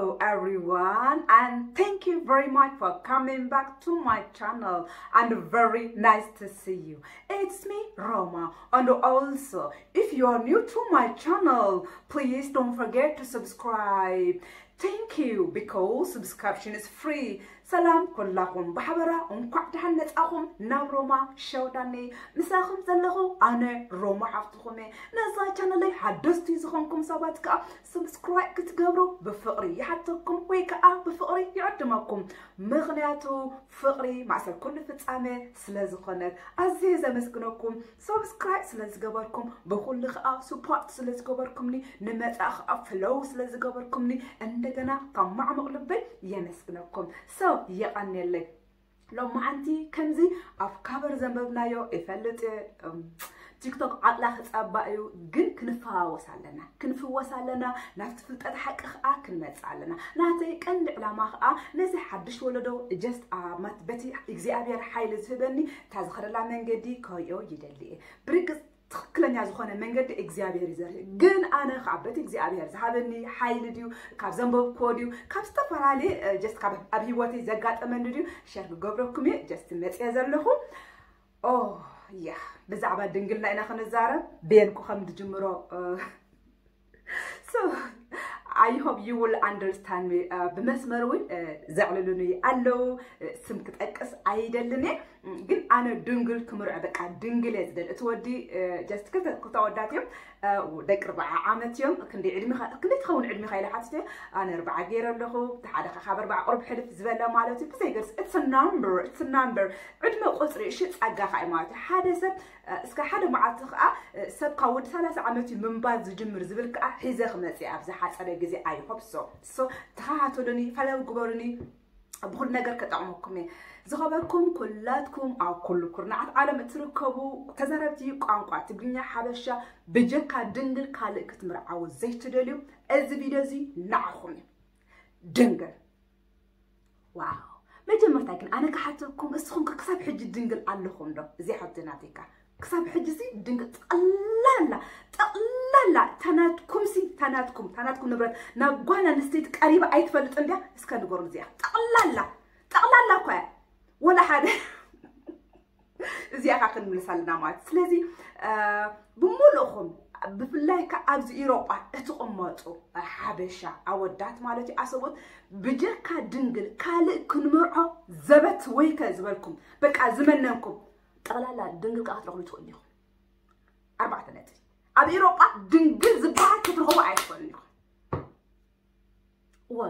Hello everyone, and thank you very much for coming back to my channel, and very nice to see you. It's me, Roma, and also, if you are new to my channel, please don't forget to subscribe. Thank you, because subscription is free. ሰላም ኩላኹም ብሓበራ፣ እንኳዕ ደሓን መጻኹም ናብ ሮማ ሸውዳኒ። ምሳኹም ዘለኹ ኣነ ሮማ ሓፍትኹም እየ። ነዛ ቻነለይ ሓደስቲ ዝኾንኩም ሰባት ከኣ ሰብስክራይብ ክትገብሩ ብፍቕሪ ይሓተኩም ወይ ከኣ ብፍቕሪ ይዕድመኩም። ምኽንያቱ ፍቕሪ ማእሰር ኩሉ ፍጻመ ስለ ዝኾነት ኣዝየ ዘመስግነኩም። ሰብስክራይብ ስለ ዝገበርኩም፣ ብኹሉ ከኣ ስፖርት ስለ ዝገበርኩምኒ፣ ንመጻኢ ከኣ ፍለው ስለ ዝገበርኩምኒ እንደገና ካብ ማዕሙቕ ልበይ የመስግነኩም። So የቐንየለይ። ሎማዓንቲ ከምዚ ኣብ ካቨር ዘንበብናዮ ይፈልጥ እየ። እም፣ ቲክቶክ ዓቕላ ክጸባ እዩ፣ ግን ክንፈዋወስ ኣለና፣ ክንፍወስ ኣለና፣ ናብቲ ፍልጠት ሓቂ ከኣ ክንመጽእ ኣለና። ናተይ ቀንዲ ዕላማ ከኣ ነዚ ሓድሽ ወለዶ ጀስት በቲ እግዚኣብሔር ሓይሊ ዝህበኒ እታ ዝኸደላ መንገዲ ከርእዮ ይደሊ እየ። ብርግጽ ትኽክለኛ ዝኾነ መንገዲ እግዚኣብሔር እዩ ዘርኢ፣ ግን ኣነ ካብ በቲ እግዚኣብሔር ዝሃበኒ ሓይሊ ድዩ፣ ካብ ዘንበብክዎ ድዩ፣ ካብ ዝተፈላለየ እ፣ ጀስት ካብ ኣብ ህይወተይ ዘጋጠመኒ ድዩ ሸር ክገብረኩም እየ። ጀስት መፅየ ዘለኹ። ኦ ያ፣ ብዛዕባ ድንግልና ኢና ክንዛረብ። ቤንኩ ከም ድጅምሮ እ፣ So I hope you will understand me. እ፣ ብመስመር እውን እ፣ ዘዕልሉኒ ኣለዉ። እ፣ ስም ክጠቅስ ኣይደልን እየ፣ ግን ኣነ ድንግል ክምርዖ፣ በቃ ድንግል እየ ዝደሊ። እቲ ወዲ እ፣ ጀስት ክልተ ክልተ ወዳት እዮም። እ፣ ደቂ ኣርብዓ ዓመት እዮም። ክንደይ ዕድሜኻ፣ ክንደይ ትኸውን ዕድሜኻ ኢለ ሓቲተ። ኣነ ኣርብዓ ገይረ ኣለኹ። እቲ ሓደ ካብ ኣርብዓ ቁሩብ ሕልፍ ዝበለ ማለት እዩ። ብዘይገርስ it's a number, it's a number። ዕድመ ቁፅሪ እሺ፣ ጸጋ ከዓ እዩ ማለት እዩ። ሓደ ሰብ እ፣ እስከ ሓደ መዓልቲ ከዓ እ፣ ሰብ ካብ ወዲ ሰላሳ ዓመት እዩ ምንባር ዝጅምር ዝብል ከዓ ሒዘ ክመፅእ ኣብዚ ሓፀረ ግዜ። I hope so። So ተኸታተሉኒ፣ ፈለው ግበሩኒ፣ ብኩሉ ነገር ከጠቕመኩም እየ። ዝኸበርኩም ኩላትኩም ኣብ ኩሉ ኩርናዓት ዓለም እትርከቡ ተዛረብቲ ቋንቋ ትግርኛ ሓበሻ፣ ብጀካ ድንግል ካልእ ክትምርዓዉ ዘይትደልዩ፣ እዚ ቪድዮ እዚ ንዓኹም እዩ። ድንግል ዋው። መጀመርታ ግን ኣነ ክሓተኩም፣ እስኹም ከ ክሳብ ሕጂ ድንግል ኣለኹም ዶ? እዚኣ ሓብቲ ናተይካ ክሳብ ሕጂ ሲ ድንግል፣ ጠቕላላ ጠቕላላ ታናትኩም ሲ ታናትኩም ታናትኩም ንብረት ናብ ጓል ኣንስተይቲ ቀሪባ ኣይትፈልጥን ድያ? እስከ ንገሩን እዚኣ። ጠቕላላ ጠቕላላ እኳ እያ፣ ወላ ሓደ። እዚኣ ካ ክንምልሳ ኣለና ማለት። ስለዚ እ፣ ብምሉእኹም ብፍላይ ከ ኣብዚ ኢሮጳ እትቕመጡ ሓበሻ ኣወዳት ማለት እዩ፣ ኣሰቦት፣ ብጀካ ድንግል ካልእ ክንምርዖ ዘበት ወይከ ዝበልኩም፣ በቃ ዝመነንኩም፣ ጠቕላላ ድንግል ከኣ ክትረኽቡ ትኽእሉ ኢኹም። ኣርባዕተ ነጥቢ። ኣብ ኢሮጳ ድንግል ዝበሃል ክትረኽቡ ኣይትኽእሉን ኢኹም። እወ፣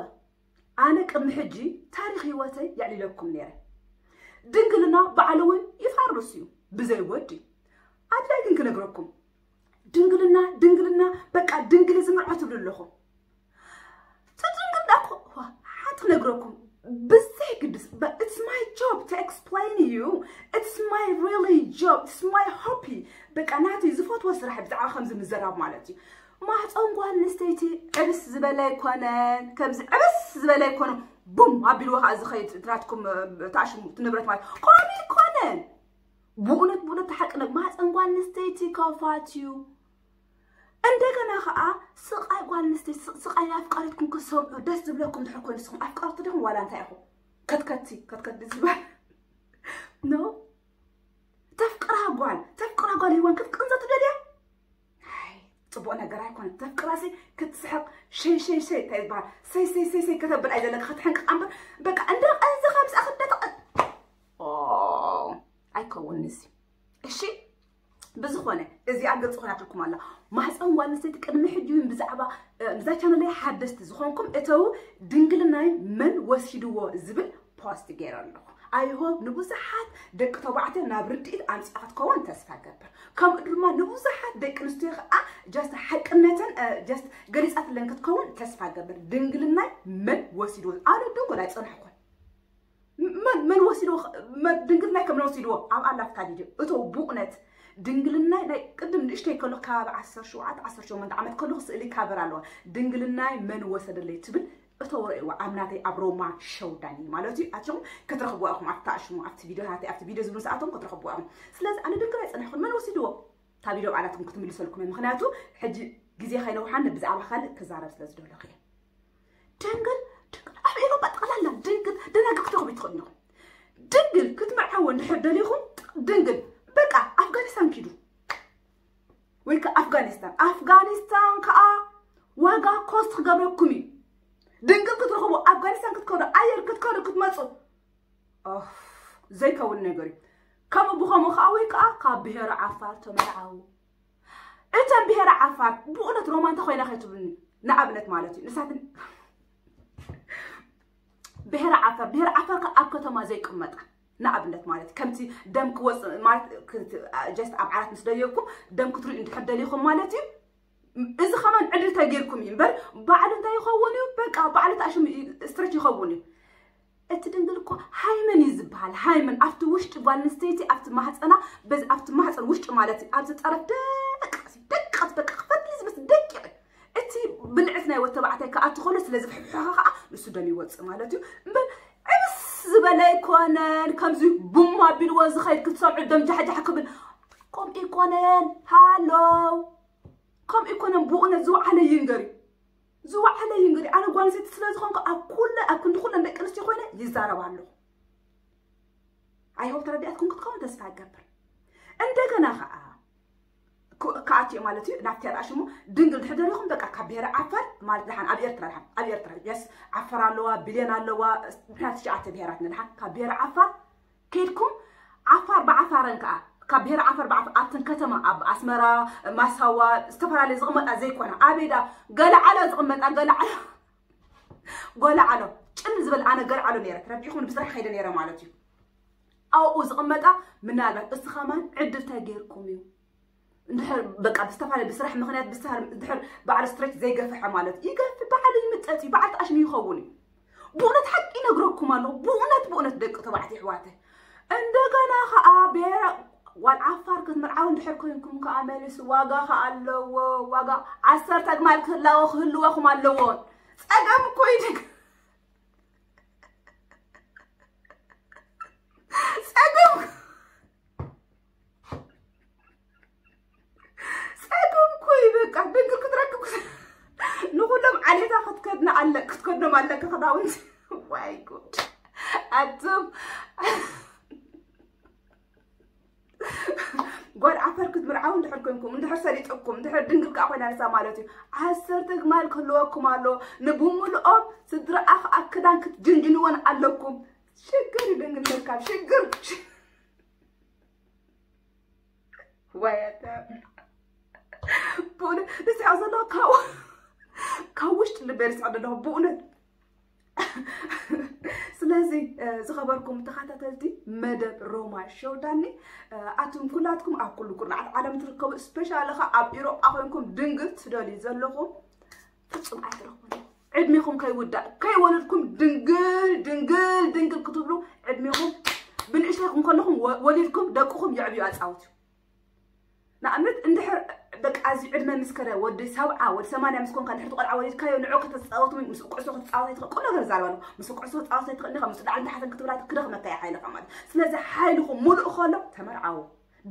ኣነ ቅድሚ ሕጂ ታሪኽ ህይወተይ የዕሊለኩም ነይረ። ድንግልና ባዕሉ እውን ይፈርስ እዩ ብዘይ ወዲ። ኣድላይ ግን ክነግረኩም፣ ድንግልና ድንግልና፣ በቃ ድንግል ዝምርዖ ትብሉ ኣለኹም። እቲ ድንግልና እኮ፣ ዋ፣ ሓንቲ ክነግረኩም፣ ብዘይ ግድስ፣ but it's my job to explain you, it's my really job, it's my hobby። በቃ ናተይ ዝፈትዎ ስራሕ ብዛዕባ ከምዚ ምዝራብ ማለት እዩ። ማህፀን ጓል ኣንስተይቲ ዕብስ ዝበለ ኣይኮነን። ከምዚ ዕብስ ዝበለ ኣይኮነን። ቡም ኣቢልዎ ከዓ ዝኸይድ ናትኩም፣ እ፣ ተኣሽሙ እቲ ንብረት ማለት ከምኡ ኣይኮነን። ብእውነት፣ ብእውነት፣ እቲ ሓቂ ነ-፣ ማህፀን ጓል ኣንስተይቲ ከፋት እዩ። እንደገና ከዓ ስቃይ ጓል ኣንስተይቲ፣ ስ-፣ ስቃይ ኣፍቃሪትኩም ክትሰምዑ ደስ ዝብለኩም ድሕር ኮይኑ፣ ንስኹም ኣፍቀርቲ ዲኹም ዋላ እንታይ ኢኹም? ከትከቲ፣ ከትከቲ ዝበሃል። ኖ። ተፍቅራ ጓል፣ ተፍቅራ ጓል ሂዋን ክትቅንዘ ትደልያ? ኣይ፣ ጽቡቕ ነገር ኣይኮነን። ተፍቅራሲ ክትስሕቕ፣ ሸይ፣ ሸይ፣ ሸይ፣ እንታይ ዝበሃል? ሰይ፣ ሰይ፣ ሰይ፣ ሰይ ከተብል ኣይዘለካ፣ ክትሕንቅቕ እምበር፣ በቃ፣ እንዳ ቀንዝኻ ምስኣ ክደተቐ-፣ ኦ፣ ኣይከውንንሲ። እሺ? ብዝኾነ፣ እዚኣ ግልጺ ኮይናትልኩም ኣላ። ማህፀን ጓል ኣንስተይቲ ቅድሚ ሕጂ እውን ብዛዕባ፣ እ፣ ብዛ ቻነለይ ሓደስቲ ዝኾንኩም እተው፣ ድንግልናይ መን ወሲድዎ ዝብል ፖስት ገይረ ኣለኹ። I hope ንብዙሓት ደቂ ተባዕትዮ ናብ ርድኢት ኣምጺኣ ክትከውን ተስፋ ገብር። ከምኡ ድማ ንብዙሓት ደቂ ኣንስትዮ ከዓ ጀስት ሓቅነተን፣ እ፣ ጀስት ገሊጻትለን ክትከውን ተስፋ ገብር። ድንግልናይ መን ወሲድዎ? ኣነ ድንጉል ኣይጸናሕኩን። መን፣ መን ወሲድዎ? መን፣ ድንግልናይ ከም መን ወሲድዎ? ኣብ ኣላፍታ ቪድዮ እቶ ብእውነት ድንግልናይ ናይ ቅድም ንእሽተይ ከሎ ከባቢ ዓሰርተ ሸውዓተ ዓሰርተ ሸሞንተ ዓመት ከለኹ ስእሊ ካቨር ኣለዋ። ድንግልናይ መን ወሰደለይ ትብል እቶ ረእይዋ ኣብ ናተይ ኣብ ሮማ ሸውዳኒ ማለት እዩ። ኣትኹም ክትረኽብዋ ኢኹም ኣብቲ ኣሽሙ፣ ኣብቲ ቪድዮታተይ፣ ኣብቲ ቪድዮ ዝብሉ ሰኣቶም ክትረኽብዋ ኢኹም። ስለዚ ኣነ ድንግል ኣይጸናሕኩን። መን ወሲድዎ? እታ ቪድዮ ባዕላትኩም ክትምልሰልኩም እየ። ምኽንያቱ ሕጂ ግዜ ከይነውሓን ብዛዕባ ካልእ ክዛረብ ስለ ዝደለኹ እየ። ድንግል ድንግል ኣብ ኤሮጳ ጠቕላላ ድንግል ደናግል ክትረኽቡ ትኽእሉ ኢኹም። ድንግል ክትምርዓዎ እንድሕር ደሊኹም ድንግል በቃ ኣፍጋኒስታን ኪዱ ወይ ከ ኣፍጋኒስታን ኣፍጋኒስታን ከዓ ዋጋ ኮስት ክገብረኩም እዩ። ድንግል ክትረኽቡ ኣፍጋኒስታን ክትከዱ ኣየር ክትከዱ ክትመፁ ዘይከውን ነገር እዩ። ከምኡ ብኸምኡ ከዓ ወይ ከዓ ካብ ብሄረ ዓፋር ተመርዓው። እተን ብሄረ ዓፋር ብእውነት ሮማ እንታይ ኮይና ከይትብሉኒ ንኣብነት ማለት እዩ ንሳትን ብሄረ ዓፋር ብሄረ ዓፋር ከ ኣብ ከተማ ዘይቅመጣ ንኣብነት ማለት ከምቲ ደም ክወፅ ማለት ጀስት ኣብ ዓራት ምስ ደየብኩም ደም ክትሪኡ እንድሕር ደሊኹም ማለት እዩ። እዚ ከማን ዕድል ተጌርኩም እዩ እምበር ባዕሉ እንታይ ይኸውን እዩ በቃ ባዕሉ ተኣሽሙ ስትሬች ይኸውን እዩ። እቲ ድንግል እኮ ሃይመን እዩ ዝበሃል። ሃይመን ኣብቲ ውሽጢ ጓል ኣንስተይቲ ኣብቲ ማህፀና በዚ ኣብቲ ማህፀን ውሽጢ ማለት እዩ ኣብዚ ጠረፍ ደቀስ ደቀስ በቃ ክፈትሊ ዝመስ ደቂቕ እቲ ብልዕት ናይ ወተባዕታይ ክኣቲ ከሎ ስለ ዝፍሕሖኸ ከዓ ንሱ ደም ይወፅእ ማለት እዩ እምበር ዕብስ ዝበለ ኣይኮነን። ከምዚ ቡም ኣቢልዎ ዝኸይድ ክትሰምዑ ደም ጃሕጃሕ ክብል ከምኡ ኣይኮነን። ሃሎ ከምኡ ኣይኮነን። ብእውነት ዝወዓለ ይንገር እዩ ዝወዓለ ይንገር እዩ። ኣነ ጓል ኣንስተይቲ ስለ ዝኾንኩ ኣብ ኩለ ኣብ ክንዲ ኩለን ደቂ ኣንስትዮ ኮይነ ይዛረብ ኣለኹ። ኣይሆብ ተረዲኣትኩም ክትከውን ተስፋ ይገብር። እንደገና ከዓ ክኣትዮ ማለት እዩ ናብቲ ኣሽሙ ድንግል ድሕደሪኹም በቃ ካብ ብሄረ ዓፋር ማለት ድሓን ኣብ ኤርትራ ድሓን ኣብ ኤርትራ የስ ዓፋር ኣለዋ ብሌን ኣለዋ ድሕና ትሽዓተ ብሄራት ንድሓን ካብ ብሄረ ዓፋር ከይድኩም ዓፋር ብዓፋረን ከዓ ካብ ብሄረ ዓፋር ብዓፋር ኣብተን ከተማ ኣብ ኣስመራ ማሳዋ ዝተፈላለየ ዝቕመጣ ዘይኮና ኣበይዳ ገለ ዓሎ ዝቕመጣ ገለ ዓሎ ጎላ ዓሎ ጭል ዝበል ኣነ ገለ ዓሎ ነረ ረቢኹም ብስራሕ ከይደ ነረ ማለት እዩ። ኣብኡ ዝቕመጣ ምናልባት እስቲ ከማን ዕድል ተገይርኩም እዩ እንድሕር በቃ ብዝተፈላለየ ብስራሕ ምክንያት ብስራሕ እንድሕር በዓል ስትሬት ዘይገፍሐ ማለት እዩ ይገፍ በዓል ይምጠጥ እዩ በዓል ጣሽም ይኸውን እዩ። ብእውነት ሓቂ ይነግረኩም ኣለኹ ብእውነት ብእውነት ደቂ ተባዕት ይሕዋተ እንደገና ከዓ ብሄራ ጓል ዓፋር ክትምርዓው እንድሕር ኮይንኩም ከዓ መሊሱ ዋጋ ከዓ ኣለዎ ዋጋ ዓሰርተ ግማል ክህላዎ ክህልወኩም ኣለዎን ጸገም እኮ ይድግ ጸገም ጸገም እኮ እዩ በቃ ድንግል ክትረክብ ንኩሎም ዓሌታ ክትከድና ኣለ ክትከድኖም ኣለካ ክዳውንቲ ዋይ ጉድ ኣቱም ጓል ዓፈር ክትምርዓው እንድሕር ኮንኩም እንድሕር ሰሊጠኩም እንድሕር ድንግል ከዓ ኮይና ንሳ ማለት እዩ ዓሰርተ ግማል ክህልወኩም ኣሎ ንብምልኦም ስድራኣ ከዓ ክዳን ክትጅንጅንወን ኣለኩም ሽግር እዩ ድንግል ምርካብ ሽግር ወያተ ብእውነት ንስሐ ዘሎ ካብ ውሽጢ ልበ ርስዖ ዘለኹ ብእውነት ስለዚ ዝኸበርኩም ተኸታተልቲ መደብ ሮማ ሸው ዳኒ ኣቱም ኩላትኩም ኣብ ኩሉ ኩርናዓት ዓለም ትርከቡ ስፔሻሊ ኸ ኣብ ኢሮጳ ኮይንኩም ድንግል ትደልዩ ዘለኹም ፍጹም ኣይትረኽቡን ዕድሜኹም ከይውዳእ ከይወለድኩም ድንግል ድንግል ድንግል ክትብሉ ዕድሜኹም ብንእሽተይኩም ከለኹም ወሊድኩም ደቅኹም የዕብዩ ኣፃውት እዩ ንኣብነት እንድሕር በቃ እዚ ዕድመ ምስ ከደ ወዲ ሰብዓ ወዲ ሰማንያ ምስ ኮንካ እንድሕር ቆልዓ ወሊድካዮ ንዑ ከተፃወቱ ምስ ኩዕሶ ክትፃወት ኣይትኽእል ቁም ነገር ዛረባ ኣለኹ ምስ ኩዕሶ ክትፃወት ኣይትኽእል ኢኻ ምስ ላዕሊ ታሕትን ክትብላ ክደኽመካ እያ ሓይልኻ ማለት ስለዚ ሓይልኹም ሙሉእ ከሎ ተመርዓዉ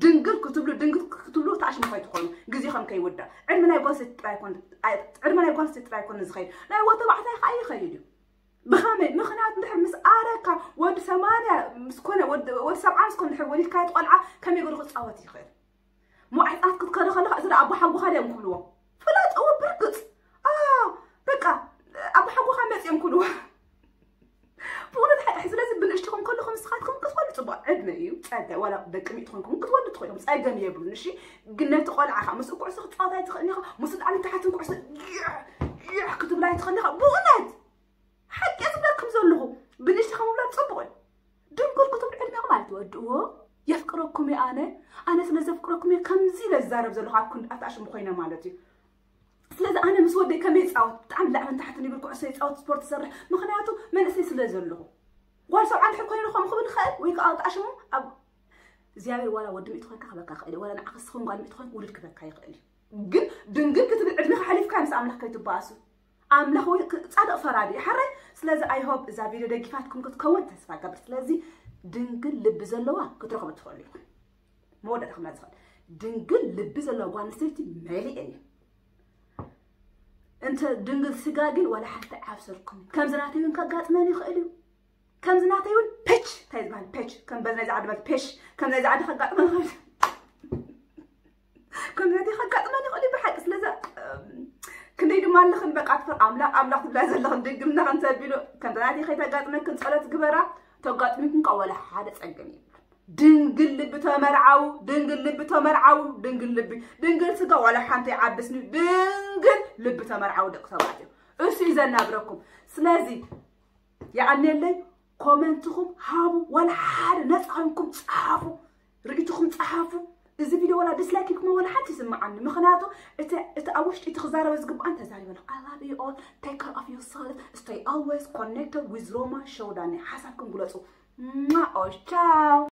ድንግል ክትብሉ ድንግል ክትብሉ ተኣሽሙ ከይትኾኑ ግዜኹም ከይውዳእ ዕድመ ናይ ጓል ኣንስተይቲ ጥራይ ኮን ዕድመ ናይ ጓል ኣንስተይቲ ጥራይ ኮን ዝኸይድ ናይ ወዲ ተባዕታይ ከዓ ይኸይድ እዩ ብኸመይ ምኽንያቱ እንድሕር ምስ ኣረካ ወዲ ሰማንያ ምስ ኮነ ወዲ ሰብዓ ምስ ኮነ እንድሕር ወሊድካዮ ቆልዓ ከመይ ገሩ ክፃወት ይኽእል ሞዓፃት ክትከዶ ከለካ እዚ ኣቦ ሓጎኻ ድዮም ክብልዎ ፍለጥዎ ብርግፅ በቃ ኣቦ ሓጎኻ መፅዮም ክብልዎ ብእውነት ሓቂ ስለዚ ብንእሽትኹም ከለኹም ንስኻትኩም ክትወልዱ ፅቡቅ ዕድመ እዩ ፀገ ዋላ ደቂ ሚእቲ ኮይንኩም ክትወልዱ ትኽእሉም ፀገም የብሉን እሺ ግን ነቲ ቆልዓኻ ምስ ኩዕሶ ክትፃወት ኣይትኽእልን ኢኻ ምስ ላዕሊ ታሕትን ኩዕሶ ይሕ ክትብል ኣይትኽእልን ኢኻ ብእውነት ሓቂ ዝብለኩም ዘለኹ ብንእሽትኻ ምብላዕ ፅቡቅ እዩ ድንግል ክትብል ዕድሜኹም ኣይትወድእዎ የፍቅረኩም እየ ኣነ ኣነ ስለ ዘፍቅረኩም እየ ከምዚ ኢለ ዝዛረብ ዘለኹ ኣብ ክንዲ ኣትኣሽሙ ኮይነ ማለት እዩ ስለዚ ኣነ ምስ ወደይ ከመይ ይፃወት ብጣዕሚ ላዕልን ታሕትን ይብል ኩዕሶ ይፃወት ስፖርት ይሰርሕ ምክንያቱ መንእሰይ ስለ ዘለኹ ጓል ሰብዓ እንድሕር ኮይኑ ከም ክብል ይኽእል ወይ ከዓ ኣትኣሽሙ ኣብ እግዚኣብሔር ዋላ ወዲ ምእቲ ኮይንካ ክበካ ይኽእል እዩ ዋላ ንዓኸ ስኹም ጓል ምእቲ ኮይንክ ውሉድ ክበካ ይኽእል እዩ ግን ድንግል ክትብል ዕድሜኻ ሓሊፍካ ምስ ኣምላኽ ከይትበኣሱ ኣምላኽ ወይ ጻድቕ ፈራዲ እዩ ሓራይ ስለዚ ኣይሆብ እዛ ቪድዮ ደጊፋትኩም ክትከውን ተስፋ ገብር ስለዚ ድንግል ልቢ ዘለዋ ክትረኽቡ ትኽእሉ ኢኹም መወዳእታ ክምላ ዝኽእል ድንግል ልቢ ዘለዋ ጓል ኣንስተይቲ መሊኤን እዩ እንተ ድንግል ስጋ ግን ዋላ ሓንቲ ዓብሰርኩም። ከምዚ ናተይ እውን ከጋጥመን ይኽእል እዩ። ከምዚ ናተይ እውን ፔች፣ እንታይ ዝበሃል ፔች፣ ከም በዚ ናይዚ ዓዲ ማለት ፔሽ፣ ከም ናይዚ ዓዲ ከጋጥመን ይኽእል እዩ። ከም ናተይ ከጋጥመን ይኽእል እዩ ብሓቂ። ስለዚ እም፣ ክንደይ ድማ ኣለኽን በቃ ትፈር ኣምላኽ ኣምላኽ ትብላ ዘለኽን ድግምና ከምተቢሉ ከምዚ ናተይ ከይተጋጥመክን ጸሎት ግበራ። ተጋጥሚኩም ከ ዋላ ሓደ ጸገም የብሉን። ድንግል ልቢ ተመርዓው፣ ድንግል ልቢ ተመርዓው፣ ድንግል ልቢ፣ ድንግል ስጋ ዋላ ሓንቲ ይዓብስኒ፣ ድንግል ልቢ ተመርዓው ደቂ ተባዕትዮ። እሱ እዩ ዘናብረኩም። ስለዚ የቐንየለይ፣ ኮመንትኹም ሃቡ፣ ዋላ ሓደ ነፃ ኮይንኩም ጸሓፉ፣ ርእይትኹም ጸሓፉ። እዚ ቪድዮ ዋላ ዲስላይክ ኢልኩም ዋላ ሓንቲ ይስምዓኒ። ምኽንያቱ እቲ እቲ ኣብ ውሽጢ እቲ ክዛረበ ዝግብኣን ተዛሪበ ኣለኹ። I love you all. Take care of yourself. Stay always connected with Roma Show ዳኒ። ሓሳብኩም ግለጹ። ማ ኦሽ ቻው።